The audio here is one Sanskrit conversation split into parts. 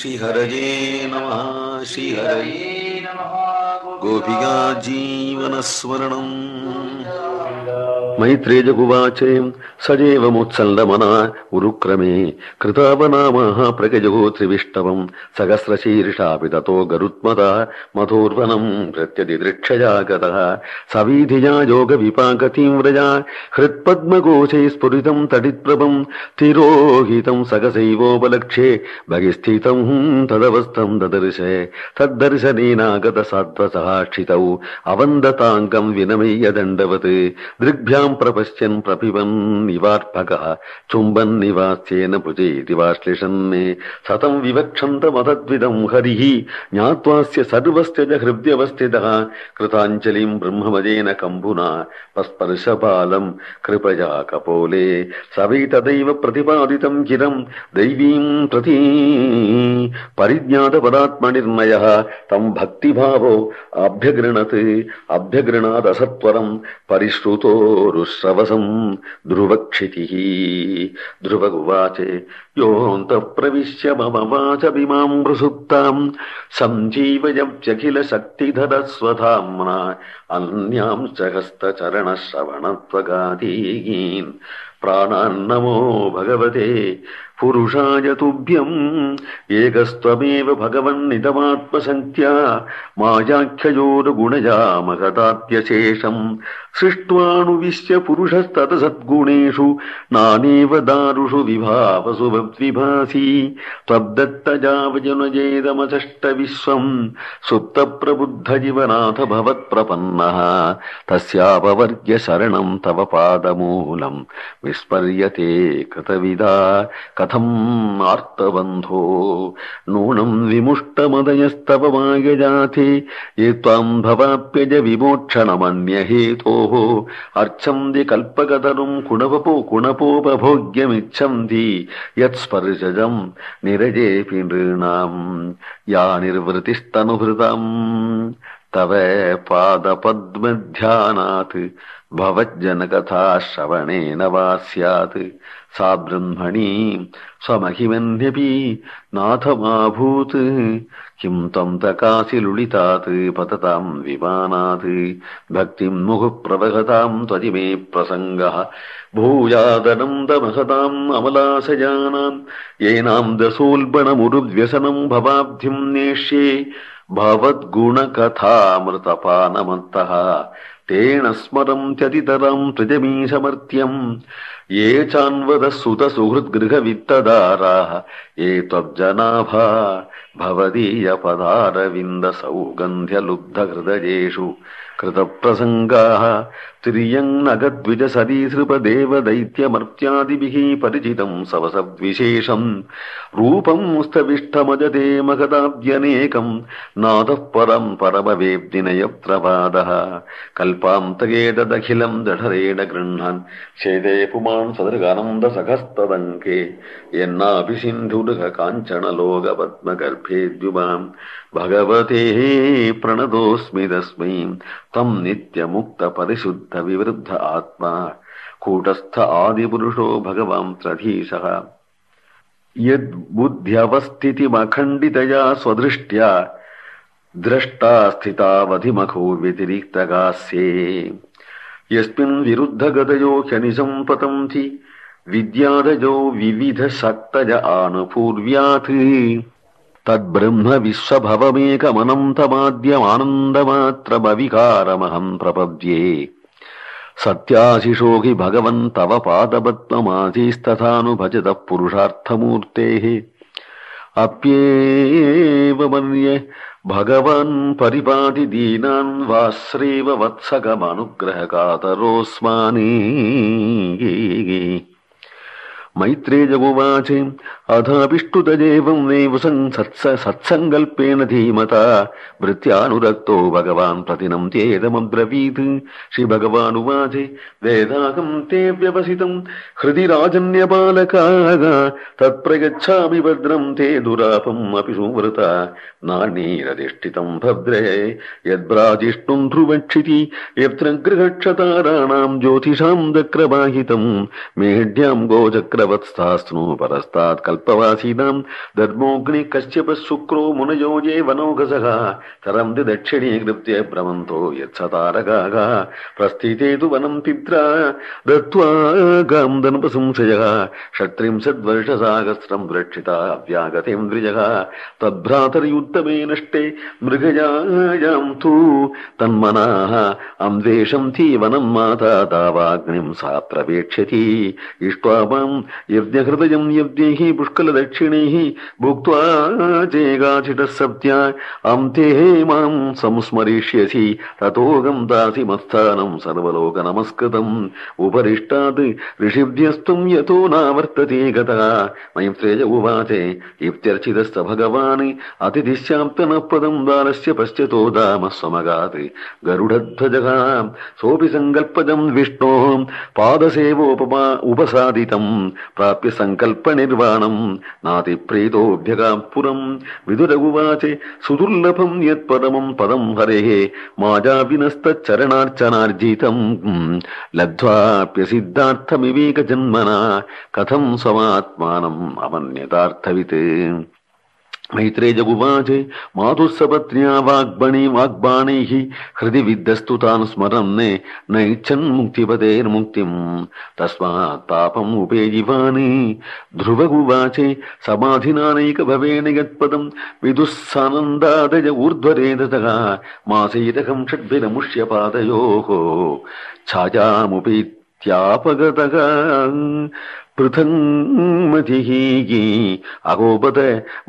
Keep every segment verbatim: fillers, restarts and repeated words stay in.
श्रीहरये नमः श्रीहरये नमः गोपिका जीवनस्मरणम् मैत्रेयगुवाचे सजेवमुत्सल्लमना उरुक्रमे कृतावनामः प्रगजो त्रिविष्टवम् सहस्रशीर्षापि ततो गरुत्मता मधोर्वनम् प्रत्यदिदृक्षया गतः सवीधिया योगविपाकतीं व्रजा हृत्पद्मकोशे स्फुरितम् तडित्प्रभम् तिरोहितम् सकसैवोपलक्ष्ये बहिस्थितम् तदवस्थम् ददर्शे तद्दर्शनेनागत सात्वसहाक्षितौ अवन्दताङ्गम् विनमय्य दण्डवत् दृग्भ्याम् प्रपश्यन् प्रपिबन् निवार्पकः चुम्बन् निवास्येन भुजेति वाश्लिषन् सतम् विवक्षन्तमतद्विदम् हरिः ज्ञात्वास्य सर्वस्य च हृद्यवस्थितः कृताञ्जलिम् ब्रह्मवदेन कम्बुना पस्पर्शपालम् कृपया कपोले सवै तदैव प्रतिपादितम् चिरम् दैवीम् प्रति परिज्ञातपदात्मनिर्णयः तम् भक्तिभावो अभ्यगृणत् अभ्यगृणादसत्वरम् परिश्रुतोरुश्रवसम् ध्रुवक्षितिः ध्रुवगुवाचे योऽन्तः प्रविश्य मम वाचमिमाम् प्रसुप्ताम् सञ्जीवयत्यखिल शक्तिधरस्वधाम्ना अन्यांश्च हस्तचरणश्रवणत्वगादीन् प्राणान्नमो भगवते पुरुषाय तुभ्यम् एकस्त्वमेव भगवन्निदमात्मसङ्ख्या मायाख्ययोर्गुणया महदात्यशेषम् सृष्ट्वानुविश्य पुरुषस्ततसद्गुणेषु नानेव दारुषु विभावसु विभासी त्वद्दत्तजावजनजेदमचष्टविश्वम् सुप्तप्रबुद्धजीवनाथ भवत्प्रपन्नः तस्यापवर्ग्य शरणम् तव पादमूलम् विस्मर्यते कृतविदा कथम् आर्तबन्धो नूनम् विमुष्टमदयस्तव मायजाते ये त्वाम् भवाप्यज विमोक्षणमन्यहेतोः अर्चन्ति कल्पकतरुम् कुणवपो कुणपोपभोग्यमिच्छन्ति यत्स्पर्शजम् निरजेऽपि नृणाम् या निर्वृतिस्तनुभृताम् तव पादपद्मध्यानात् भवज्जनकथा श्रवणेन वा स्यात् सा ब्रह्मणी स्वमहिमन्यपि नाथमाभूत् किं त्वं तकासि लुलितात् पततां विमानात् भक्तिं मुहुः त्वजिमे प्रसङ्गः भूयादनन्दमहताम् अमलाशयानाम् येनां दशोल्बणमुरुव्यसनं भवाब्धिं नेष्ये भवद्गुणकथामृतपानमन्तः तेन स्मरन्त्यतितरम् त्रिजमीशमर्त्यम् ये चान्वदः सुतसुहृद्गृहवित्तदाराः ये त्वज्जनाभा भवदीयपदारविन्दसौगन्ध्यलुब्धहृदयेषु कृतप्रसङ्गाः तिर्यङ्नगद्विजसरीसृपदेवदैत्यमर्त्यादिभिः परिचितम् सवसद्विशेषम् रूपम् स्तविष्ठमजते महदाद्यनेकम् नादः परम् परमवेद्दिन यत्र पादः कल्पान्तके तदखिलम् जठरेण गृह्णन् छेदे पुमान् सदृगानन्दसखस्तदङ्के यन्नापि सिन्धुरुह काञ्चनलोकपद्मगर्भे द्युमाम् भगवते प्रणतोऽस्मि तस्मै तम् नित्यमुक्तपरिशुद्धविवृद्ध आत्मा कूटस्थ आदिपुरुषो भगवान् त्रधीशः यद्बुद्ध्यवस्थितिमखण्डितया स्वदृष्ट्या द्रष्टा स्थितावधिमखो व्यतिरिक्तगास्ये यस्मिन् विरुद्धगतयो ह्यनिशम् पतन्ति विद्यादयो विविधशक्तज आनुपूर्व्यात् तद्ब्रह्म विश्वभवमेकमनन्तमाद्यमानन्दमात्रमविकारमहम् प्रपद्ये सत्याशिषो हि भगवन् तव पादपद्ममाधीस्तथानुभजतः पुरुषार्थमूर्तेः अप्येव मन्ये भगवान् परिपाति दीनान् वाश्रेव वत्सकमनुग्रहकातरोऽस्मानि मैत्रेयगुवाचे अथापिष्टुतजेवं नैव सत्सङ्कल्पेन धीमता वृत्त्यानुरक्तो भगवान् प्रतिनं चेदमब्रवीत् श्रीभगवानुवाचे वेदाहं ते व्यवसितं हृदि राजन्यबालकाः तत्प्रयच्छामि भद्रं ते दुरापम् अपि सुवृता नान्यैरधिष्ठितं भद्रे यद्भ्राजिष्णुं ध्रुवक्षिति यत्र गृहक्षताराणां ज्योतिषां चक्रवाहितं मेढ्यां गोचक्र कपिलवत्स्थास्नु परस्तात् कल्पवासीनां धर्मोऽग्नि कश्यप शुक्रो मुनयो ये वनौघसः तरन्ति दक्षिणीकृत्य भ्रमन्तो यत्सतारकाः प्रस्थिते तु वनं पित्रा दत्त्वा गां धनुपसंशयः षट्त्रिंशद्वर्षसाहस्रं रक्षिता अव्यागतेन्द्रियः तद्भ्रातर्युत्तमे नष्टे मृगयायां तु तन्मनाः अन्वेषन्ति वनं माता तावाग्निं सा प्रवेक्ष्यति इष्ट्वा मां यज्ञहृदयं यज्ञैः पुष्कलदक्षिणैः भुक्त्वा चेगाचिटः सत्या अन्ते मां संस्मरिष्यसि ततोऽहं दासि मत्स्थानं सर्वलोकनमस्कृतम् उपरिष्टात् ऋषिभ्यस्त्वं यतो नावर्तते गतः मैत्रेय उवाच इत्यर्चितश्च भगवान् अतिथिश्चाप्तनः पदं बालस्य पश्यतो दामस्वमगात् गरुडध्वजः सोऽपि सङ्कल्पजं विष्णोः पादसेवोपमा उपसादितं प्राप्य सङ्कल्पनिर्वाणं नातिप्रीतोऽभ्यगात् पुरं विदुर उवाच सुदुर्लभं यत्परमं पदं हरेः माजाविनस्तच्चरणार्चनार्जितं लब्ध्वाप्यसिद्धार्थमिवेकजन्मना कथं स्वमात्मानम् अमन्यतार्थवित् मैत्रेय उवाच मातुः सपत्न्या वाग्बणी वाग्बाणैः हृदि विद्धस्तु तान् स्मरन् नैच्छन् मुक्तिपतेर्मुक्तिं तस्मात् तापम् उपेजिवानि ध्रुव उवाच समाधिनानैकभवेन यत्पदं विदुस्सानन्दादय ऊर्ध्वरेदतः मासैरकं षड्भिरमुष्य पादयोः छायामुपीत्यापगतः पृथङ्मतिः अगोपत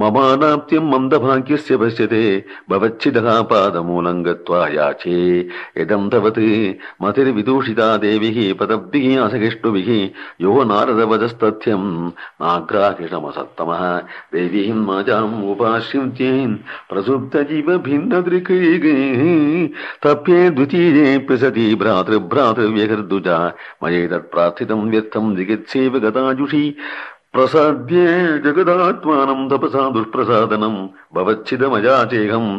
ममानाप्त्यं मन्दभाग्यस्य पश्यते भवच्छिदः पादमूलं गत्वा याचे इदं तवत् मतिर्विदूषिता देविः पदब्धिः असहिष्णुभिः यो नारदवदस्तथ्यं नाग्राहिषमसत्तमः देवीं माजाम् उपाश्रित्येन् प्रसुप्तजीव भिन्नदृक् तप्ये द्वितीयेऽप्य सति भ्रातृभ्रातृव्यहर्दुजा मयैतत्प्रार्थितं व्यर्थं जिगित्सेव गताजुषी प्रसाद्ये जगदात्मानं तपसा दुष्प्रसादनं भवच्छिदमयाचेहम्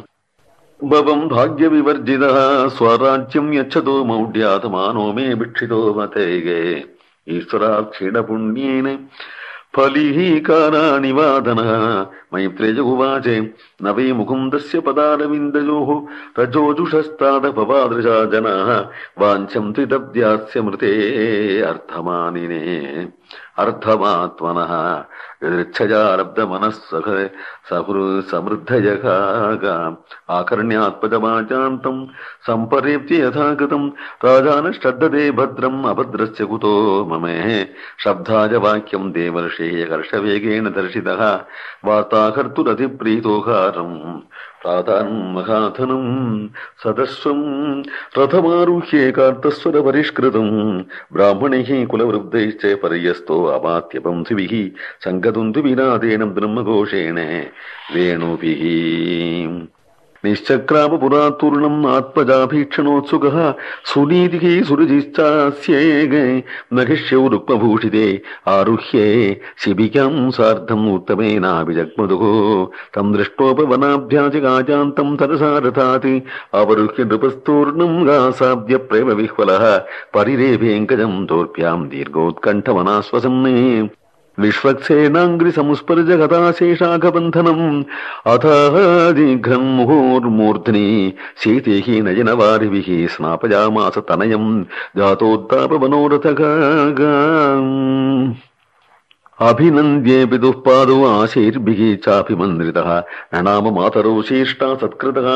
भवं भाग्यविवर्जितः स्वराज्यं यच्छतो मौढ्यात्मानो मे भिक्षितो मतेगे ईश्वराक्षीणपुण्येन फलिः काराणि वादनः मैत्रेय उवाच न वै मुकुन्दस्य पदारविन्दयोः रजोजुषस्तादपवादृशा जनाः वाञ्छन्ति तद्यास्य मृते अर्थमानिने अर्थमात्मनः यदृच्छयारब्धमनः समृद्धयः आकर्ण्यात्पदमाचान्तं सम्परेप्य यथा कृतं राजानश्रद्धते भद्रम् अभद्रस्य कुतो ममे शब्दाय वाक्यं देवर्षेः कर्षवेगेन दर्शितः वार्ताकर्तुरधिप्रीतोकारम् प्रातान् महाधनं सदस्वं रथमारुह्ये कार्तस्वरपरिष्कृतं ब्राह्मणैः कुलवृद्धैश्च पर्यस्तो अमात्यपंथिभिः सङ्गतुन्तुविनादेन ब्रह्मघोषेण वेणुभिः निश्चक्रामपुरातूर्णम् आत्मजाभीक्षणोत्सुकः सुनीतिः सुरजिश्चास्ये नखिष्यौ रुक्मभूषिते आरुह्ये शिबिकां सार्धम् उत्तमेनाभिजग्मधुः तं दृष्टोपवनाभ्याजगाजान्तं तरसा रथात् अवरुह्य नृपस्तूर्णम् गासाद्य प्रेमविह्वलः परिरेभेऽङ्कजं दोर्भ्यां दीर्घोत्कण्ठमनाश्वसन् विश्वक्सेनाङ्घ्रिसंस्पर्शगताशेषाखबन्धनम् अथादिघ्रं मुहुर्मूर्ध्नि शीतेः नयनवारिभिः स्नापयामास तनयम् जातोत्तापमनोरथः अभिनन्द्ये पितुः पादौ आशीर्भिः चाभिमन्त्रितः ननाम मातरौ शीर्ष्टा सत्कृतः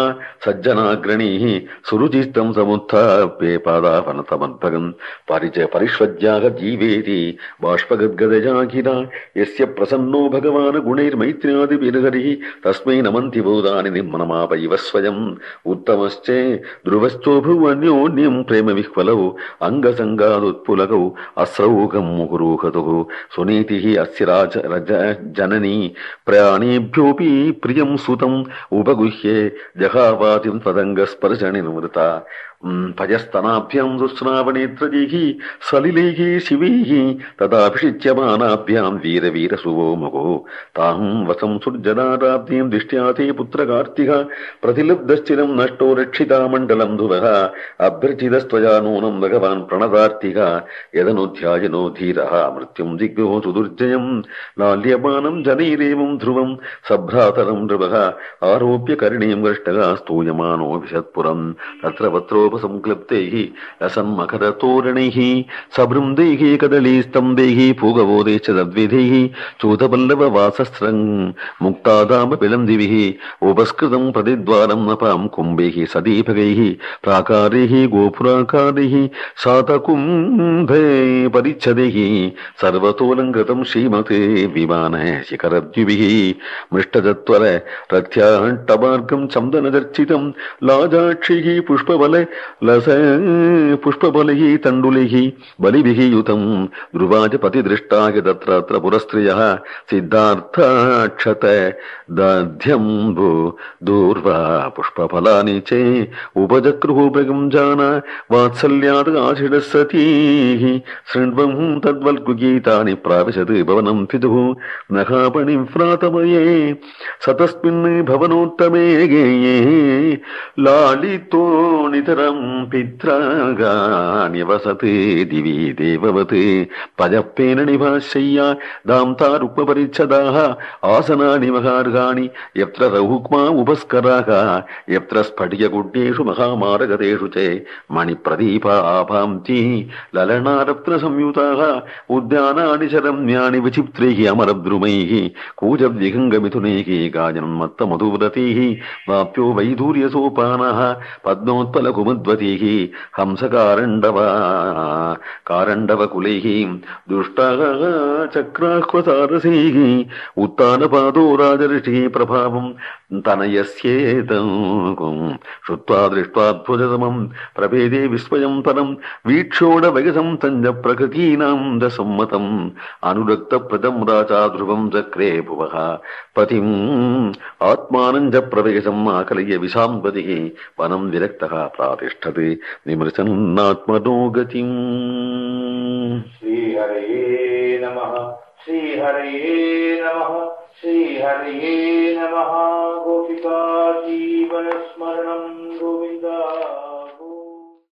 सज्जनाग्रणीः सुरुचिस्तं समुत्थाप्ये पादापनतमद्भगम् परिचय परिष्वज्याः जीवेति बाष्पगद्गदजाखिला यस्य प्रसन्नो भगवान् गुणैर्मैत्र्यादिभिर्हरिः तस्मै नमन्ति भूतानि निर्मनमापैव स्वयम् उत्तमश्चे ध्रुवश्चोभुवन्योन्यं प्रेमविह्वलौ अङ्गसङ्गादुत्पुलकौ अस्रौघं मुहुरुहतुः सुनीतिः अस्य राज रज जननी प्रयाणेभ्योऽपि प्रियं सुतम् उपगुह्ये जहावातिं तदङ्गस्पर्शनिर्वृता भजस्तनाभ्याम् दुःस्रावनेत्रजैः सलिलैः शिवैः तदाभिषिच्यमानाभ्याम् वीरवीरसुवो मगो ताम् वसं सुर्जनाराब्धीम् दृष्ट्या ते पुत्रकार्तिक प्रतिलब्धश्चिरम् नष्टो रक्षिता मण्डलम् धुवः अभ्यर्चितस्त्वया नूनम् भगवान् प्रणदार्तिक यदनुध्यायनो धीरः मृत्युम् दिग्भ्यो सुदुर्जयम् लाल्यमानम् जनैरेवम् ध्रुवम् सभ्रातरम् नृपः आरोप्य करणीम् गृष्टः स्तूयमानो विशत्पुरम् तत्र वत्रोपसंक्लिप्तैः लसन्मकरतोरणैः सबृन्दैः कदलीस्तम्भैः पूगवोदैश्च तद्विधैः चूतपल्लववासस्रम् मुक्तादामपिलन्दिभिः उपस्कृतम् प्रतिद्वारम् नपाम् कुम्भैः सदीपकैः प्राकारैः गोपुराकारैः सातकुम्भे परिच्छदैः सर्वतोऽलङ्कृतम् श्रीमते विमान शिखरद्युभिः मृष्टजत्वर रथ्याट्टमार्गम् चन्दनचर्चितम् लाजाक्षैः पुष्पबल लस पुष्पबलैः तण्डुलैः बलिभिः युतम् ध्रुवाजपतिदृष्टाय तत्र पुरस्त्रियः सिद्धार्थाक्षत दध्यम्बु दूर्वा पुष्पफलानि च उपजक्रुः प्रगम् जान वात्सल्यात् आषिडः सतीः शृण्वम् तद्वल्गुगीतानि प्राविशत् भवनम् पितुः नखापणिम् व्रातमये सतस्मिन् भवनोत्तमे गेये लालितो नितरम् पित्रागान्यवसते दिवि देववत् पजप्पेन निभाशय्या दाम्ता रुक्मपरिच्छदाः आसनानि महार्गाणि यत्र रहुक्मा उपस्कराः यत्र स्फटिकगुड्येषु महामारगतेषु च मणिप्रदीपा आभान्ति ललनारत्नसंयुताः उद्यानानि च रम्याणि विचित्रैः अमरद्रुमैः कूजव्यगङ्गमिथुनैः गायन्मत्तमधुव्रतैः वाप्यो वैधूर्यसोपानः पद्मोत्पलकुमुद्वतीः हंसकारण्डवा कारण्डवकुलैः दुष्टाः चक्राह्वसारसैः उत्तानपादो राजऋषिः प्रभावम् तनयस्येतम् श्रुत्वा दृष्ट्वाद्भुततमम् प्रभेदे विस्मयम् परम् वीक्षोडवयसम् तञ्ज प्रकृतीनाम् दसम्मतम् अनुरक्तप्रदम् राजा ध्रुवम् चक्रे भुवः पतिम् आत्मानम् च प्रवेशम् आकलय्य विशाम्पतिः वनम् विरक्तः प्रातिष्ठते विमृशन्नात्मनो गतिम्। श्रीहरये नमः श्रीहरये नमः श्रीहरये नमः। गोपिका जीवनस्मरणम्।